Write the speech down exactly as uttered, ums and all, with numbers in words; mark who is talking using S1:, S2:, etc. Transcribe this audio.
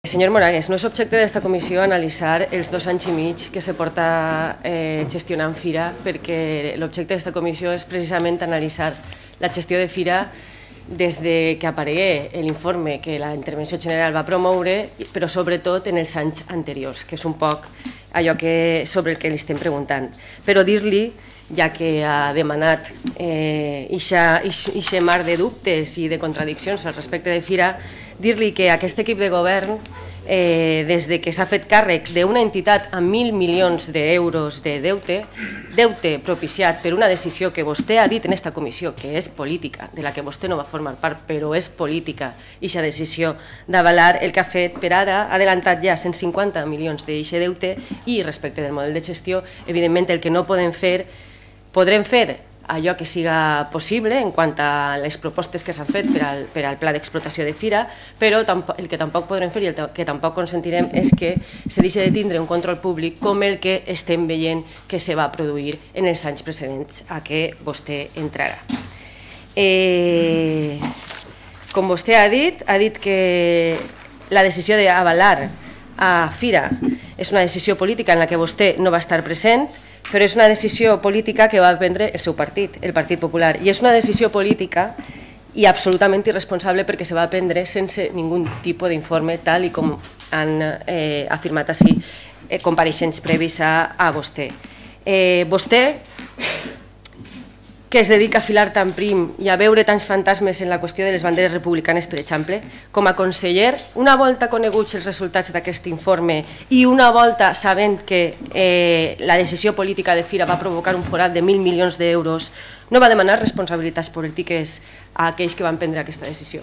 S1: Senyor Moragues, no és objecte d'esta comissió analitzar els dos anys i mig que se porta eh, gestionant Fira, perquè l'objecte d'esta comissió és precisament analitzar la gestió de Fira des de que aparegué l'informe que la intervenció general va promoure, però sobretot en els anys anteriors, que és un poc allò que, sobre el que li estem preguntant. Però dir-li, ja que ha demanat aquest mar de dubtes i de contradiccions al respecte de Fira, dir-li que aquest equip de govern, eh, des de que s'ha fet càrrec d'una entitat amb mil milions d'euros de deute, deute propiciat per una decisió que vostè ha dit en aquesta comissió, que és política, de la que vostè no va formar part, però és política, aquesta decisió d'avalar el que ha fet per ara, ha adelantat ja cent cinquanta milions d'aquest deute i respecte del model de gestió, evidentment el que no podem fer, podrem fer allò que siga possible en quant a les propostes que s'han fet per al, per al pla d'explotació de Fira, però el que tampoc podrem fer i el que tampoc consentirem és que se deixi de tindre un control públic com el que estem veient que se va produir en els anys precedents a què vostè entrarà. Eh, com vostè ha dit, ha dit que la decisió d'avalar a Fira és una decisió política en la que vostè no va estar present, però és una decisió política que va prendre el seu partit, el Partit Popular, i és una decisió política i absolutament irresponsable perquè se va prendre sense ningú tipus d'informe, tal i com han eh, afirmat així eh, compareixents previs a, a vostè. Eh, vostè, que es dedica a filar tan prim i a veure tants fantasmes en la qüestió de les banderes republicanes, per exemple, com a conseller, una volta coneguts els resultats d'aquest informe i una volta sabent que eh, la decisió política de Fira va provocar un forat de mil milions d'euros, no va demanar responsabilitats polítiques a aquells que van prendre aquesta decisió?